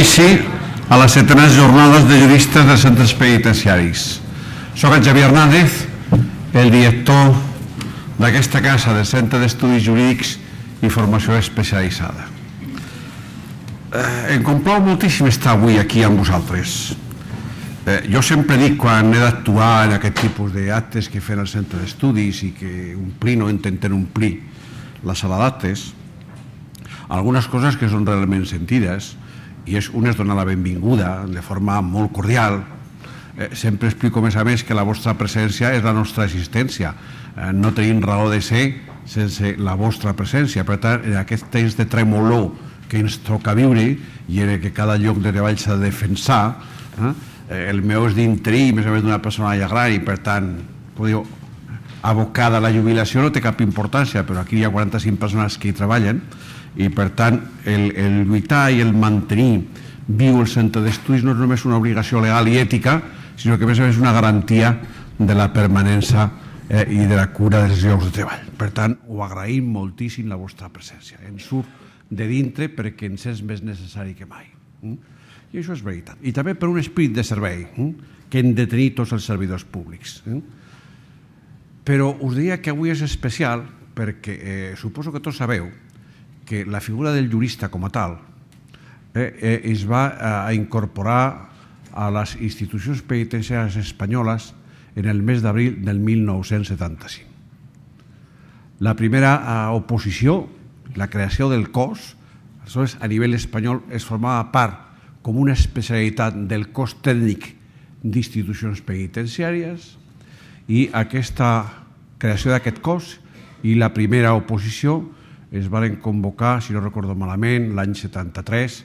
inici a les 7enes jornades de juristes de centres penitenciaris. Soc en Xavier Hernández, el director d'aquesta casa de Centre d'Estudis Jurídics i Formació Especialitzada. Em complau moltíssim estar avui aquí amb vosaltres. Jo sempre dic, quan he d'actuar en aquest tipus d'actes que fan el centre d'estudis i que omplim o intenten omplir la sala d'actes, algunes coses que són realment sentides, i una és donar la benvinguda de forma molt cordial. Sempre explico, a més, que la vostra presència és la nostra existència. No tenim raó de ser sense la vostra presència. Per tant, en aquest temps de tremolor que ens toca viure i en què cada lloc de treball s'ha de defensar, el meu és d'interí, més o menys d'una persona ja gran, i per tant, abocada a la jubilació no té cap importància, però aquí hi ha 45 persones que hi treballen, i per tant el lluitar i el mantenir viu el centre d'estudis no és només una obligació legal i ètica, sinó que a més és una garantia de la permanència i de la cura dels llocs de treball. Per tant, ho agraïm moltíssim la vostra presència. Ens surt de dintre perquè ens és més necessari que mai. I això és veritat. I també per un esperit de servei que hem de tenir tots els servidors públics. Però us diria que avui és especial perquè suposo que tots sabeu que la figura del jurista com a tal es va incorporar a les institucions penitenciàries espanyoles en el mes d'abril del 1975. La primera oposició, la creació del cos, aleshores a nivell espanyol es formava part com una especialitat del cos tècnic d'institucions penitenciàries, i aquesta creació d'aquest cos i la primera oposició es van convocar, si no recordo malament, l'any 73,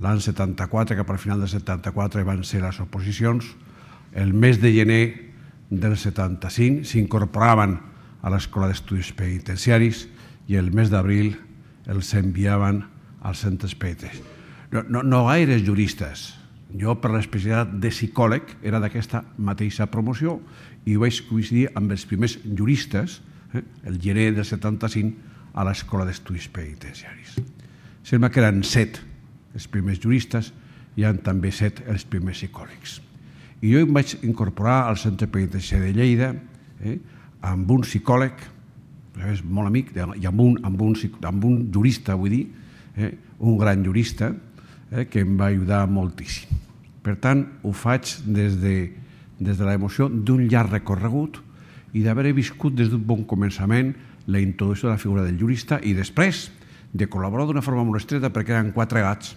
l'any 74, cap al final del 74 van ser les oposicions. El mes de gener del 75 s'incorporaven a l'Escola d'Estudis Penitenciaris i el mes d'abril els enviaven als centres penitenciaris. No gaires juristes. Jo, per l'especialitat de psicòleg, era d'aquesta mateixa promoció i vaig coincidir amb els primers juristes, el gener del 75, a l'Escola d'Estudis Penitenciaris. Sembla que eren 7 els primers juristes i eren també 7 els primers psicòlegs. I jo em vaig incorporar al Centre Penitenciari de Lleida amb un psicòleg, molt amic, i amb un jurista, vull dir, un gran jurista, que em va ajudar moltíssim. Per tant, ho faig des de l'emoció d'un llarg recorregut i d'haver viscut des d'un bon començament la introducció de la figura del jurista i després de col·laborar d'una forma molt estreta perquè eren 4 gats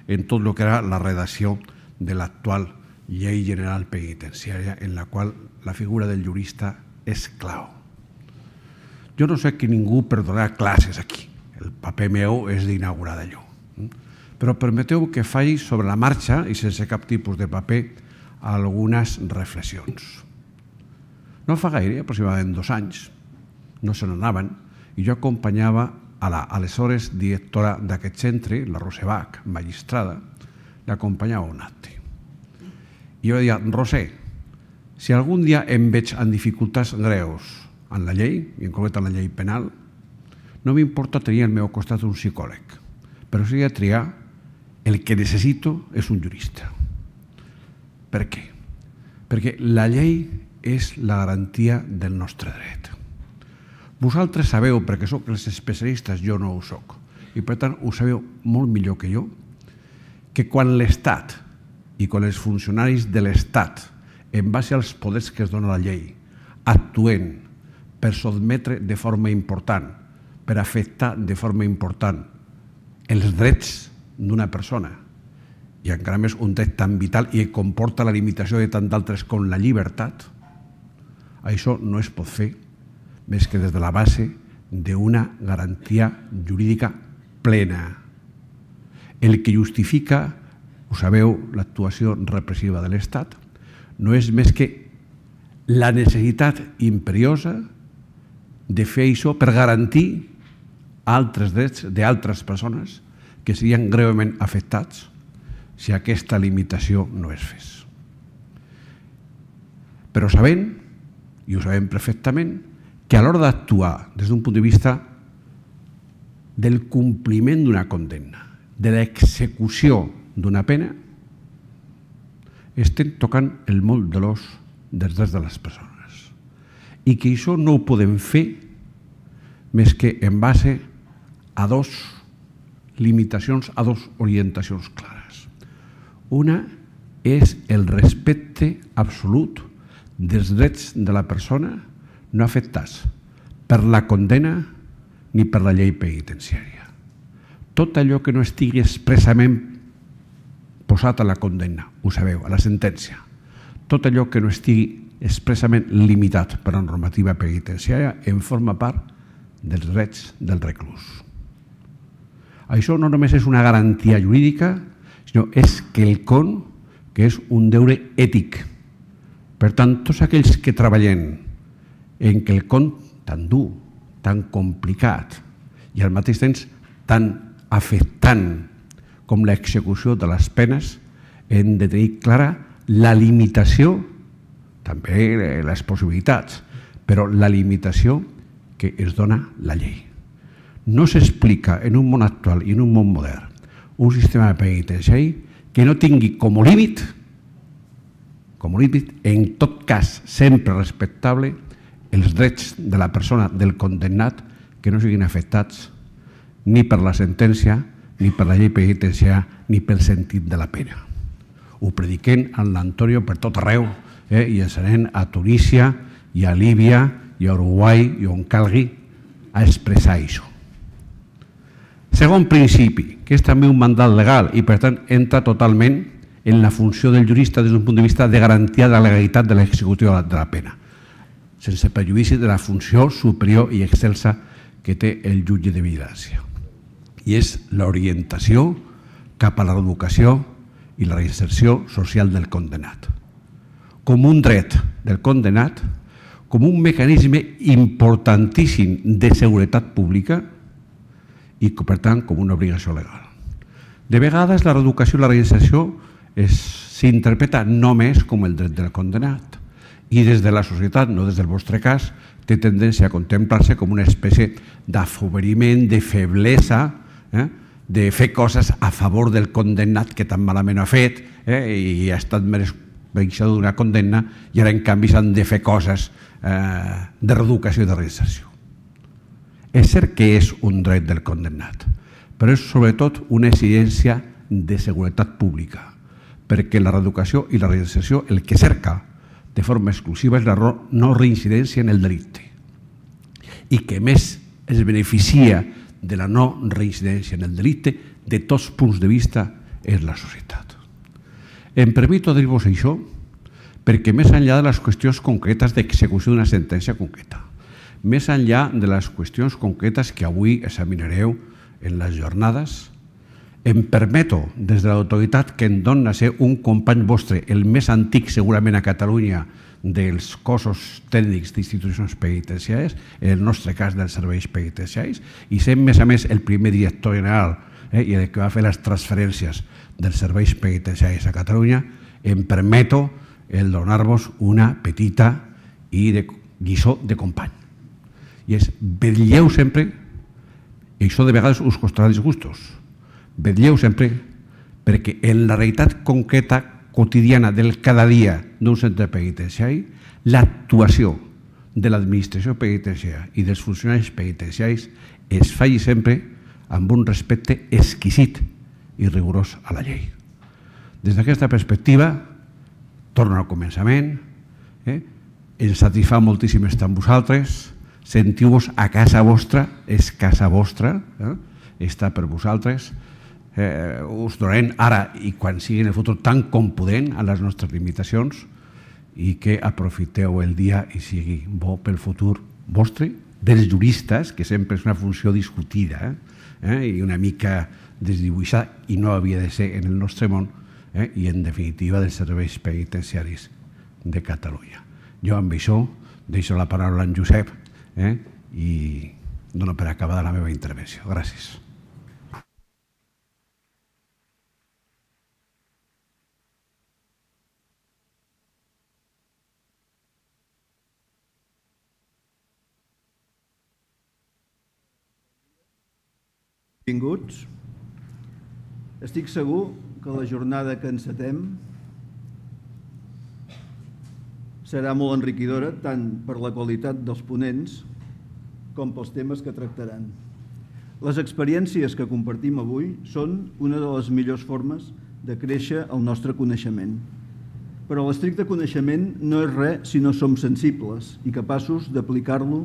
en tot el que era la redacció de l'actual Llei General Penitenciària, en la qual la figura del jurista és clau. Jo no sé que ningú per donar classes aquí. El paper meu és d'inaugurar d'allò. Però permeteu que faci sobre la marxa i sense cap tipus de paper algunes reflexions. No fa gaire, aproximadament 2 anys, no se n'anaven, i jo acompanyava a l'aleshores directora d'aquest centre, la Roser Bach, magistrada, l'acompanyava a un acte. I jo deia, Roser, si algun dia em veig en dificultats greus en la llei, i en concret en la llei penal, no m'importa tenir al meu costat un psicòleg, però si he de triar, el que necessito és un jurista. Per què? Perquè la llei és la garantia del nostre dret. Vosaltres sabeu, perquè sóc els especialistes, jo no ho soc, i per tant ho sabeu molt millor que jo, que quan l'Estat i quan els funcionaris de l'Estat, en base als poders que es dona la llei, actuen per sotmetre de forma important, per afectar de forma important els drets d'una persona, i encara més un dret tan vital i que comporta la limitació de tant d'altres com la llibertat, això no es pot fer més que des de la base d'una garantia jurídica plena. El que justifica, ho sabeu, l'actuació repressiva de l'Estat, no és més que la necessitat imperiosa de fer això per garantir altres drets d'altres persones que serien greument afectats si aquesta limitació no es fes. Però sabent, i ho sabem perfectament, que a l'hora d'actuar des d'un punt de vista del compliment d'una condemna, de l'execució d'una pena, estem tocant el moll de l'os dels drets de les persones. I que això no ho podem fer més que en base a dues limitacions, a dues orientacions clares. Una és el respecte absolut dels drets de la persona no afectats per la condena ni per la llei penitenciària. Tot allò que no estigui expressament posat a la condemna, ho sabeu, a la sentència, tot allò que no estigui expressament limitat per la normativa penitenciària en forma part dels drets del reclús. Això no només és una garantia jurídica, sinó és quelcom que és un deure ètic. Per tant, tots aquells que treballem en quelcom tan dur, tan complicat i al mateix temps tan afectant com l'execució de les penes, hem de tenir clara la limitació, també les possibilitats, però la limitació que es dona la llei. No s'explica en un món actual i en un món modern un sistema penitenciari que no tingui com a límit, en tot cas sempre respectable, els drets de la persona, del condemnat, que no siguin afectats ni per la sentència, ni per la llei penitenciària, ni pel sentit de la pena. Ho prediquem en l'Antonio per tot arreu, i ens anem a Tunísia, i a Líbia, i a Uruguai, i on calgui, a expressar això. Segon principi, que és també un mandat legal i per tant entra totalment en la funció del jurista des d'un punt de vista de garantia de la legalitat de l'execució de la pena, sense perjudici de la funció superior i excelsa que té el jutge de vigilància. I és l'orientació cap a la reeducació i la reinserció social del condemnat. Com un dret del condemnat, com un mecanisme importantíssim de seguretat pública i, per tant, com una obligació legal. De vegades, la reeducació i la reinserció s'interpreta només com el dret del condemnat i des de la societat, no des del vostre cas, té tendència a contemplar-se com una espècie d'afoberiment, de feblesa, de fer coses a favor del condemnat que tan malament ha fet i ha estat mereixedor d'una condemna i ara en canvi s'han de fer coses de reeducació i de reinserció. És cert que és un dret del condemnat, però és sobretot una exigència de seguretat pública, perquè la reeducació i la reinserció el que cerca de forma exclusiva és la no reincidència en el delicte i que més es beneficia de la no reincidència en el delicte de tots punts de vista és la societat. Em permito dir-vos això perquè més enllà de les qüestions concretes d'execució d'una sentència concreta, més enllà de les qüestions concretes que avui examinareu en les jornades, em permeto, des de l'autoritat que em dona ser un company vostre, el més antic segurament a Catalunya dels cossos tècnics d'institucions penitenciàries, en el nostre cas dels serveis penitenciaris, i sent més a més el primer director general i el que va fer les transferències dels serveis penitenciaris a Catalunya, em permeto el donar-vos una petita lliçó de company. I és, vetlleu sempre, i això de vegades us costarà disgustos, vetlleu sempre perquè en la realitat concreta quotidiana del cada dia d'un centre penitenciari, l'actuació de l'administració penitenciària i dels funcionaris penitenciaris es faci sempre amb un respecte exquisit i rigorós a la llei. Des d'aquesta perspectiva, torno al començament, ens satisfà moltíssim estar amb vosaltres, sentiu-vos a casa vostra, és casa vostra, està per vosaltres, us donarem ara i quan sigui en el futur tan com podem a les nostres limitacions i que aprofiteu el dia i sigui bo pel futur vostre, dels juristes, que sempre és una funció discutida i una mica desdibuixada i no havia de ser en el nostre món, i en definitiva dels serveis penitenciaris de Catalunya. Jo amb això deixo la paraula a en Josep i dono per acabada la meva intervenció. Gràcies. Benvinguts. Estic segur que la jornada que encetem serà molt enriquidora tant per la qualitat dels ponents com pels temes que tractaran. Les experiències que compartim avui són una de les millors formes de créixer el nostre coneixement. Però l'estricte coneixement no és res si no som sensibles i capaços d'aplicar-lo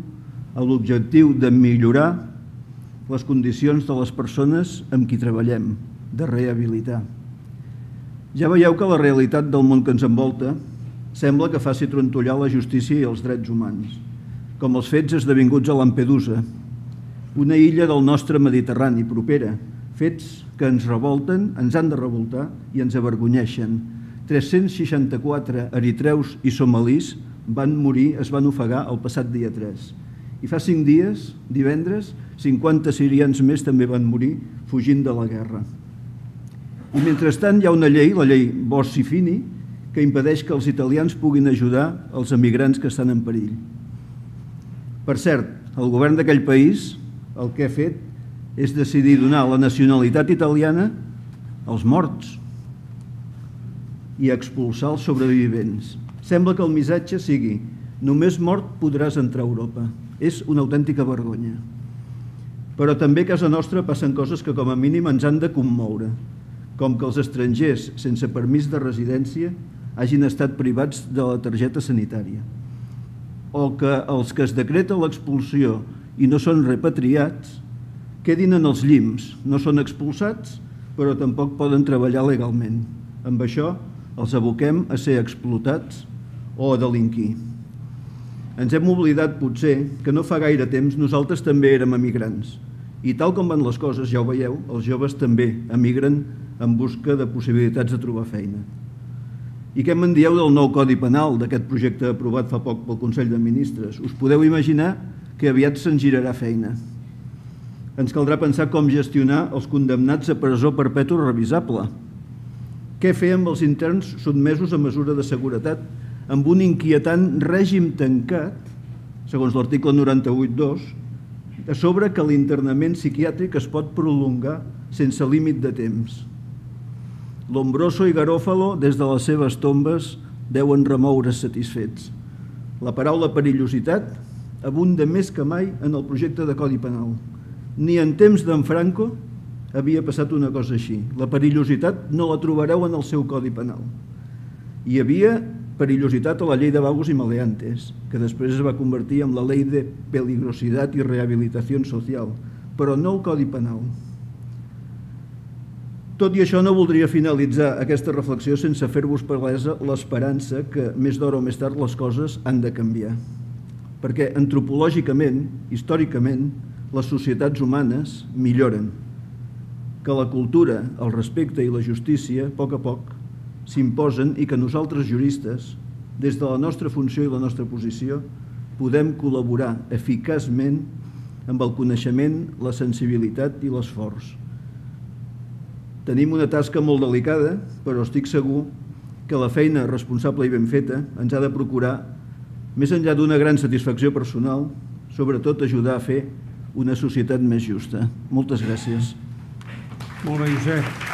a l'objectiu de millorar les condicions de les persones amb qui treballem, de rehabilitar. Ja veieu que la realitat del món que ens envolta sembla que faci trontollar la justícia i els drets humans, com els fets esdevinguts a Lampedusa, una illa del nostre Mediterrani propera, fets que ens revolten, ens han de revoltar i ens avergonyeixen. 364 eritreus i somalis van morir, es van ofegar el passat dia 3. I fa 5 dies, divendres, 50 sirians més també van morir fugint de la guerra. I mentrestant hi ha una llei, la llei Bossi-Fini, que impedeix que els italians puguin ajudar els emigrants que estan en perill. Per cert, el govern d'aquell país el que ha fet és decidir donar la nacionalitat italiana als morts i expulsar els sobrevivents. Sembla que el missatge sigui només mort podràs entrar a Europa. És una autèntica vergonya. Però també a casa nostra passen coses que com a mínim ens han de commoure, com que els estrangers sense permís de residència hagin estat privats de la targeta sanitària, o que els que es decreta l'expulsió i no són repatriats quedin en els llims, no són expulsats, però tampoc poden treballar legalment. Amb això els aboquem a ser explotats o a delinquir. Ens hem oblidat, potser, que no fa gaire temps nosaltres també érem emigrants. I tal com van les coses, ja ho veieu, els joves també emigren en busca de possibilitats de trobar feina. I què me'n dieu del nou Codi Penal, d'aquest projecte aprovat fa poc pel Consell de Ministres? Us podeu imaginar que aviat se'n girarà feina. Ens caldrà pensar com gestionar els condemnats a presó perpètua revisable. Què fer amb els interns sotmesos a mesura de seguretat amb un inquietant règim tancat, segons l'article 98.2, a sobre que l'internament psiquiàtric es pot prolongar sense límit de temps. Lombroso i Garofalo, des de les seves tombes, deuen remoure's satisfets. La paraula perillositat abunda més que mai en el projecte de Codi Penal. Ni en temps d'en Franco havia passat una cosa així. La perillositat no la trobareu en el seu Codi Penal. Hi havia perillositat a la llei de vagos i maleantes, que després es va convertir en la llei de peligrositat i rehabilitació social, però no el Codi Penal. Tot i això, no voldria finalitzar aquesta reflexió sense fer-vos palesa l'esperança que més d'hora o més tard les coses han de canviar. Perquè antropològicament, històricament, les societats humanes milloren, que la cultura, el respecte i la justícia, a poc, s'imposen i que nosaltres juristes, des de la nostra funció i la nostra posició, podem col·laborar eficaçment amb el coneixement, la sensibilitat i l'esforç. Tenim una tasca molt delicada, però estic segur que la feina responsable i ben feta ens ha de procurar, més enllà d'una gran satisfacció personal, sobretot ajudar a fer una societat més justa. Moltes gràcies. Molt bé, Josep.